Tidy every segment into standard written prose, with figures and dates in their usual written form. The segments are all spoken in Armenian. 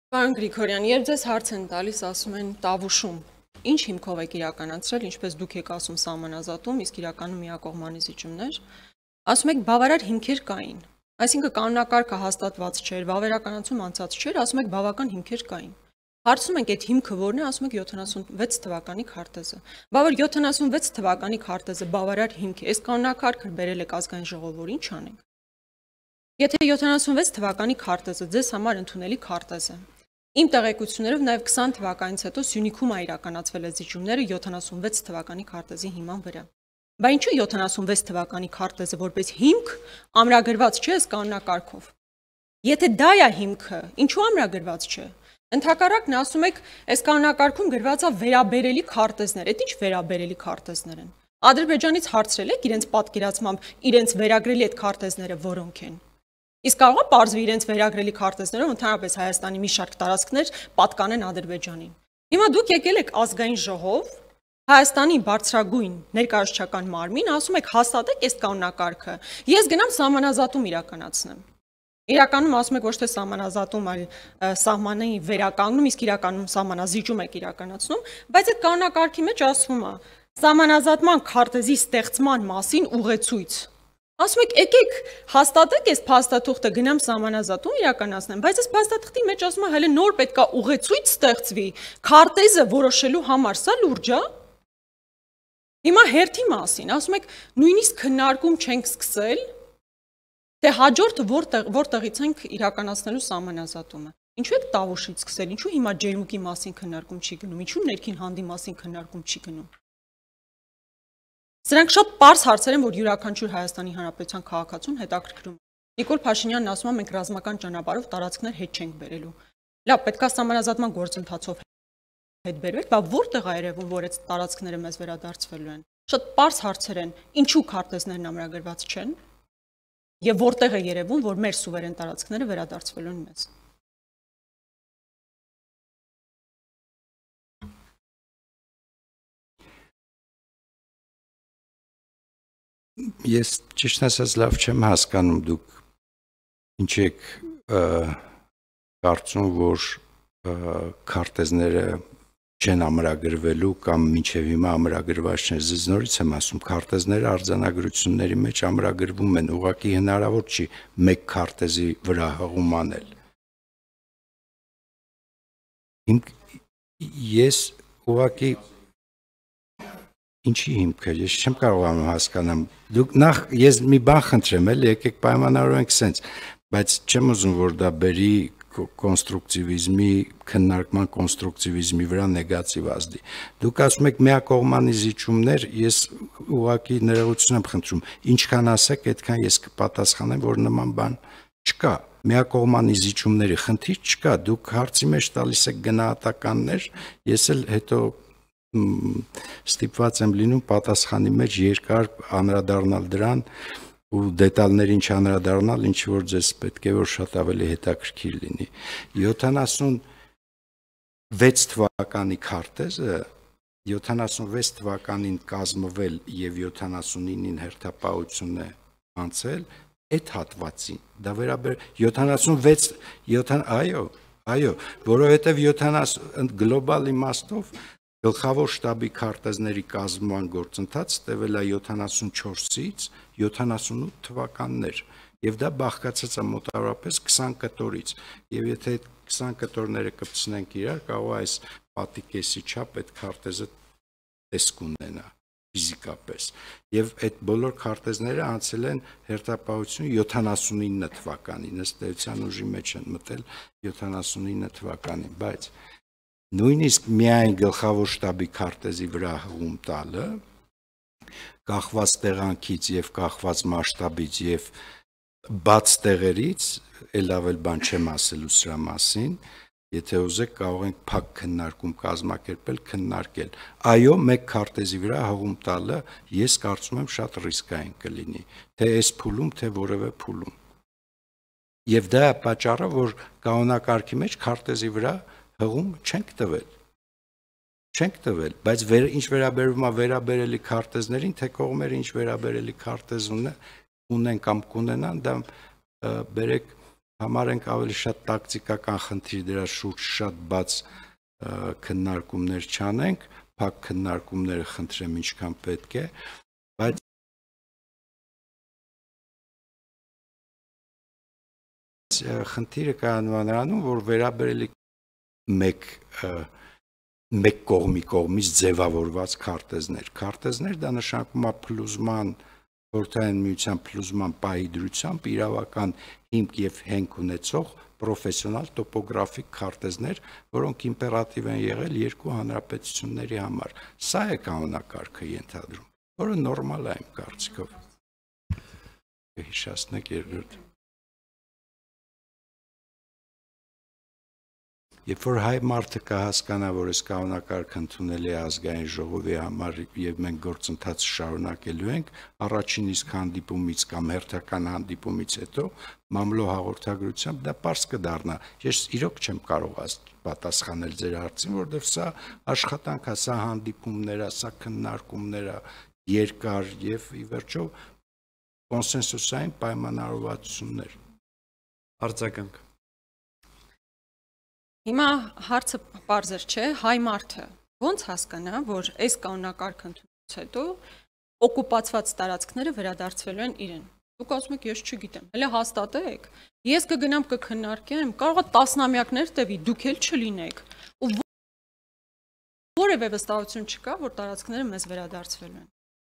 Պարոն Գրիգորյան, երբ ձեզ հարց են տալիս, ասում են Տավուշում, ինչ հիմքով եք իրականացրել, ինչպես դուք եք ասում սահմանազատում, իսկ իրականում միակողմանի զիջումներ, ասում եք բավարար հիմքեր կային, այսինքն կանոնակարգը հաստատված չէր, վավերականացում անցած չէր, ասում եք բավական հիմքեր կային։ Հարցում ենք այդ հիմքը որն է, ասում եք 76 թվականի քարտեզը։ Բա որ 76 թվականի քարտեզը բավարար հիմք է, այս կանոնակարգը բերել եք ազգային ժողովուրդ, ինչ անենք։ Եթե 76 թվականի քարտեզը ձեզ համար ընդունելի քարտեզ է, իմ տեղեկություններով նաև 20 թվականից հետո Սյունիքում իրականացվել է զիջումները 76 թվականի քարտեզի հիման վրա։ Բա ինչու 76 թվականի քարտեզը որպես հիմք ամրագրված չէ ըստ կանոնակարգով։ Եթե դա է հիմքը, ինչու ամրագրված չէ։ Ընդհակառակն ասում եք, այս կանոնակարգում գրված է վերաբերելի քարտեզներ, այդ ինչ վերաբերելի քարտեզներ են։ Ադրբեջանից հարցրել եք իրենց պատկերացմամբ իրենց վերագրելի այդ քարտեզները որոնք են։ Իսկ կարող է պարզվի իրենց վերագրելի քարտեզներով ընդհանրապես Հայաստանի մի շարք տարածքներ պատկանեն Ադրբեջանին։ Հիմա դուք եկել եք ազգային ժողով, Հայաստանի բարձրագույն ներկայացուցչական մարմին, ասում եք հաստատեք այս կանոնակարգը, ես գնամ սահմանազատում իրականացնեմ։ Իրականում ասում եք ոչ թե սահմանազատում, այլ սահմանի վերականգնում, իսկ իրականում սահմանազիջում եք իրականացնում, բայց այդ կանոնակարգի մեջ ասվում է սահմանազատման քարտեզի ստեղծման մասին ուղեցույց։ Ասում եք եկեք հաստատեք այս փաստաթուղթը գնամ սահմանազատում իրականացնեմ, բայց այս փաստաթղթի մեջ ասում է հələ նոր պետքա ուղեցույց ստեղծվի քարտեզը որոշելու համար, սա լուրջ է։ Հիմա հերթի մասին, ասում եք նույնիսկ քննարկում չենք սկսել, թե հաջորդը որտեղից ենք իրականացնելու սահմանազատումը։ Ինչու եք Տավուշից սկսել, ինչու հիմա ջերմուկի մասին քննարկում չի գնում, ինչու ներքին հանդի մասին քննարկում չի գնում։ Սրանք շատ պարզ հարցեր են, որ յուրաքանչյուր Հայաստանի Հանրապետության քաղաքացուն հետաքրքրում է։ Նիկոլ Փաշինյանն ասում է մենք ռազմական ճանապարհով տարածքներ հետ չենք բերելու։ Լավ, պետքա սահմանազատման գործընթացով հետ բերվեք, բա որտեղ է երևում, որ այդ տարածքները մեզ վերադարձվելու են։ Շատ պարզ հարցեր են, ինչու քարտեզներն ամրագրված չեն։ Եվ որտեղ է երևում, որ մեր սուվերեն տարածքները վերադարձվելու են մեզ։ Ես ճիշտ ասած լավ չեմ հասկանում դուք ինչ եք կարծում, որ քարտեզները չեն ամրագրվելու կամ մինչև հիմա ամրագրված չեն։ Ձեզ նորից եմ ասում, քարտեզները արձանագրությունների մեջ ամրագրվում են, ուղղակի հնարավոր չի մեկ քարտեզի վրա հղում անել։ Ես ուղղակի ինչի հիմքը, ես չեմ կարողանում հասկանամ։ Դուք նախ ես մի բան խնդրեմ, էլի եկեք պայմանավորենք սենց, բայց չեմ ուզում, որ դա բերի կոնստրուկտիվիզմի քննարկման կոնստրուկտիվիզմի վրա նեգատիվ ազդի։ Դուք ասում եք միակողմանի զիջումներ, ես ուղղակի ներողություն եմ խնդրում, ինչքան ասեք, այդքան ես կպատասխանեմ, որ նման բան չկա։ Միակողմանի զիջումների խնդիր չկա, դուք հարցի մեջ տալիս եք գնահատականներ, ես էլ հետո ստիպված եմ լինում պատասխանի մեջ երկար անդրադառնալ դրան ու դետալներին չանդրադառնալ, ինչ որ ձեզ պետք է որ շատ ավելի հետաքրքիր լինի։ 76 թվականի քարտեզը 76 թվականին կազմվել եւ 79-ին հերթապահություն է անցել, այդ հատվածին դա վերաբեր 76 որովհետեւ 70 գլոբալ իմաստով Գլխավոր շտաբի քարտեզների կազմման գործընթաց տևել է 74-ից 78 թվականներ եւ դա բաղկացած է մոտավորապես 20 կտորից եւ եթե այդ 20 կտորները կպցնենք իրար կարող է այս պատիկեսի չափ այդ քարտեզը տեսք ունենա ֆիզիկապես եւ այդ բոլոր քարտեզները անցել են հերթապահություն 79 թվականին ըստ էության ուժի մեջ են մտել 79 թվականին բայց նույնիսկ միայն գլխավոր շտաբի քարտեզի վրա հղում տալը կախված տեղանքից եւ կախված մասշտաբից եւ բաց տեղերից ել ավել բան չեմ ասելու սրա մասին եթե ուզեք կարող ենք փակ քննարկում կազմակերպել քննարկել այո մեկ քարտեզի վրա հղում տալը ես կարծում եմ շատ ռիսկային կլինի թե այս փուլում թե որևէ փուլում եւ դա է պատճառը որ կանոնակարգի մեջ քարտեզի վրա հղում չենք տվել, բայց ինչ վերաբերվում է վերաբերելի քարտեզներին, թե կողմերը ինչ վերաբերելի քարտեզ ունեն կամ կունենան, դա բերեք համարենք ավելի շատ տակտիկական խնդիր, դրա շուրջ շատ բաց քննարկումներ չանենք, փակ քննարկումները խնդրեմ ինչքան պետք է, բայց խնդիրը կայանում է նրանում, որ վերաբերելի մեկ կողմից ձևավորված քարտեզներ, դա նշանակում է փլուզման, խորհրդային միության փլուզման պահի դրությամբ իրավական հիմք եւ հենք ունեցող պրոֆեսիոնալ տոպոգրաֆիկ քարտեզներ, որոնք իմպերատիվ են եղել երկու հանրապետությունների համար։ Սա է կանոնակարգը ենթադրում, որը նորմալ է իմ կարծիքով։ Հիշեցնեք երկրորդ։ Երբ որ հայ մարդը կհասկանա, որ այս կանոնակարգը ընդունելի է ազգային ժողովի համար եւ մենք գործընթացը շարունակելու ենք, առաջին իսկ հանդիպումից կամ հերթական հանդիպումից հետո մամլո հաղորդագրությամբ դա պարզ կդառնա։ Ես իրոք չեմ կարող պատասխանել ձեր հարցին, որովհետեւ սա աշխատանք է, սա հանդիպումներ է, սա քննարկումներ է, երկար եւ ի վերջո կոնսենսուսային պայմանավորվածություններ։ Արձագանք։ Հիմա հարցը պարզեր չէ, հայ մարդը ոնց հասկանա, որ այս կանոնակարգը ընդունելուց հետո օկուպացված տարածքները վերադարձվելու են իրեն։ Դուք ասում եք, ես չգիտեմ, հələ հաստատեք, ես կգնամ կքննարկեմ, կարող է տասնամյակներ տևի, դուք էլ չլինեք, ու որևէ վստահություն չկա, որ տարածքները մեզ վերադարձվելու են։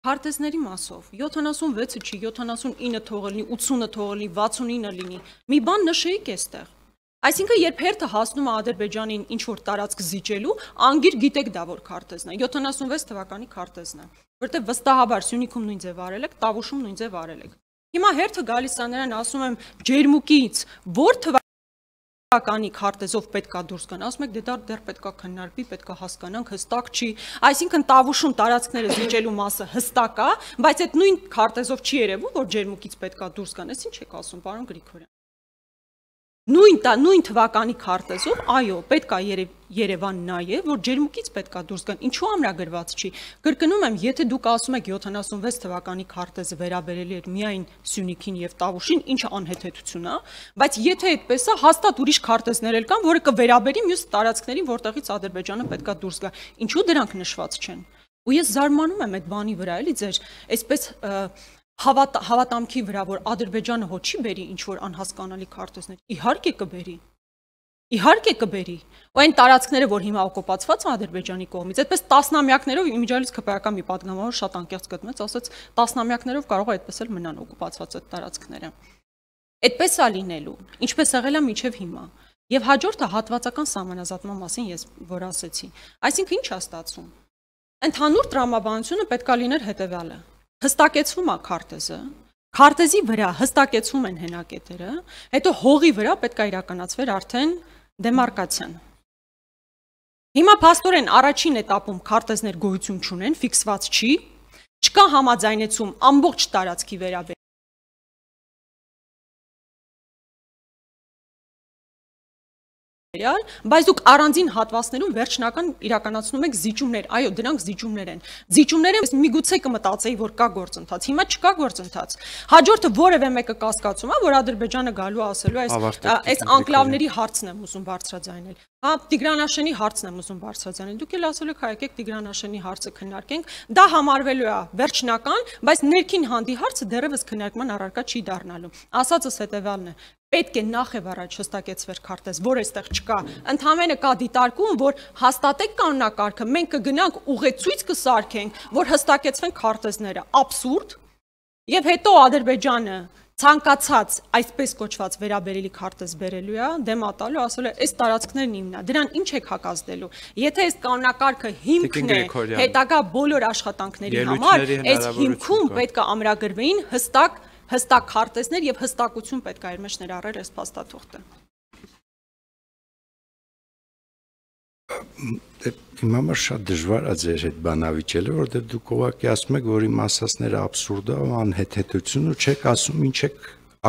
Քարտեզների մասով 76-ը չի, 79 թողել լինի, 80-ը թողել լինի, 69-ը լինի, մի բան նշեիք այստեղ։ Այսինքն, երբ հերթը հասնում է Ադրբեջանին ինչ-որ տարածք զիջելու, անգիր գիտեք դա որ քարտեզն է, 76 թվականի քարտեզն է, որտեղ վստահաբար Սյունիքում նույն ձև արել եք, Տավուշում նույն ձև արել եք։ Հիմա հերթը գալիս է նրան, ասում եմ, ջերմուկից որ թվականի քարտեզով պետքա դուրս գան, ասում եք, դե դա դեռ պետքա քննարկվի, պետքա հասկանանք, հստակ չի։ Այսինքն Տավուշում տարածքները զիջելու մասը հստակ է, բայց այդ նույն քարտեզով չի երևում, որ ջերմուկից պետքա դուրս գան, այս ինչ եք ասում, պարոն Գրիգորյան։ Նույն թվականի քարտեզով, այո, պետք է Երևան նայե, որ ջերմուկից պետք է դուրս գան, ինչու ամրագրված չի։ Կրկնում եմ, եթե դուք ասում եք 76 թվականի քարտեզը վերաբերելի էր միայն Սյունիքին եւ Տավուշին, ինչը անհեթեթություն է, բայց եթե այդպես է, հաստատ ուրիշ քարտեզներ էլ կան, որը կվերաբերի մյուս տարածքներին, որտեղից Ադրբեջանը պետք է դուրս գա։ Ինչու դրանք նշված չեն։ Ու ես զարմանում եմ այդ բանի վրա, էլի ձեր այսպես հավատամքի վրա, որ Ադրբեջանը հո չի բերի ինչ-որ անհասկանալի քարտեզներ, իհարկե կբերի, ու այն տարածքները, որ հիմա օկուպացված են Ադրբեջանի կողմից, այդպես տասնամյակներով, իմիջիալից ԿՊԱ-ական մի պատգամավոր շատ անկեղծ գտնեց, ասաց տասնամյակներով կարող է այդպես էլ մնան օկուպացված այդ տարածքները։ Այդպես է լինելու, ինչպես եղել է մինչև հիմա։ Եվ հաջորդը հատվածական սահմանազատման մասին ես որ ասեցի։ Այսինքն ինչ է ստացվում։ Ընդհանուր տրամաբանությունը պետք է լիներ հետևյալը։ Հստակեցվում է քարտեզը, քարտեզի վրա հստակեցվում են հենակետերը, հետո հողի վրա պետք է իրականացվեր արդեն դեմարկացիան։ Հիմա փաստորեն առաջին էտապում քարտեզներ գոյություն չունեն, ֆիքսված չի, չկա համաձայնեցում ամբողջ տարածքի վերաբերյալ։ Բայց դուք առանձին հատվածներում վերջնական իրականացնում եք զիջումներ, այո, դրանք զիջումներ են։ Զիջումները միգուցե կմտածեի, որ կա գործընթաց, հիմա չկա գործընթաց։ Հաջորդը որևէ մեկը կասկածում է, որ Ադրբեջանը գալու ասելու այս անկլավների հարցն եմ ուզում բարձրաձայնել։ Հա, Տիգրանաշենի հարցն եմ ուզում բարձրաձայնել։ Դուք էլ ասել եք, հայ եկեք Տիգրանաշենի հարցը քննարկենք։ Դա համարվելու է վերջնական, բայց ներքին հանդի հարցը դեռևս քննարկման առարկա չի դառնալու։ Ասածս հետևյալն է. պետք է նախ եւ առաջ հստակեցվեր քարտեզ, որ այստեղ չկա։ Ընդհանրապես կա դիտարկում, որ հաստատեք կանոնակարգը, մենք կգնանք ուղեցույց կսարքենք, որ հստակեցվեն քարտեզները։ Աբսուրդ։ Եվ հետո Ադրբեջանը ցանկացած այսպես կոչված վերաբերելի քարտեզ բերելու է, դեմատալու, ասել է, այս տարածքներն իմն է, դրան ինչ եք հակազդելու։ Եթե այս կանոնակարգը հիմքն է հետագա բոլոր աշխատանքների համար, այս հիմքում պետք է ամրագրվեին հստակ քարտեզներ եւ հստակություն պետք է իր մեջ ներառեր այս փաստաթուղթը։ Իմ համար շատ դժվար է ձեր հետ բանավիճելը, որովհետեւ դուք ուղղակի ասում եք, որ իմ ասածները աբսուրդ է ու անհեթեթություն ու չեք ասում ինչ եք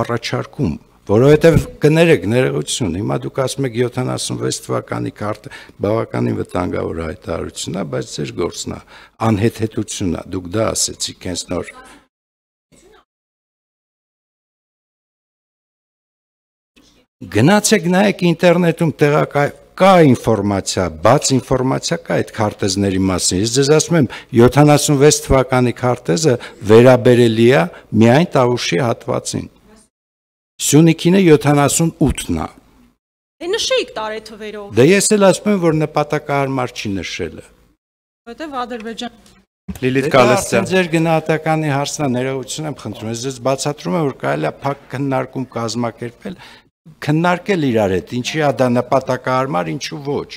առաջարկում, որովհետեւ կներեք ներողություն, հիմա դուք ասում եք 76 թվականի քարտը բավականին վտանգավոր հայտարարություն է, բայց ձեր գործն է, անհեթեթություն է, դուք դա ասեցիք հենց նոր։ Գնացեք նայեք ինտերնետում կա ինֆորմացիա, բաց ինֆորմացիա կա այդ քարտեզների մասին։ Ես ձեզ ասում եմ 76 թվականի քարտեզը վերաբերելի է միայն Տավուշի հատվածին։ Սյունիքինը 78-ն է։ Դե նշեիք տարեթվերով։ Դե ես էլ ասում եմ, որ նպատակահարմար չի նշելը։ Որտեվ Ադրբեջան Լիլիթ Կալստյան։ Ձեր գնահատականի հարցն է, ներողություն եմ խնդրում։ Ես ձեզ բացատրում եմ, որ կարելի է փակ քննարկում կազմակերպել, քննարկել իրար հետ, ինչի է դա նպատակահարմար, ինչու ոչ։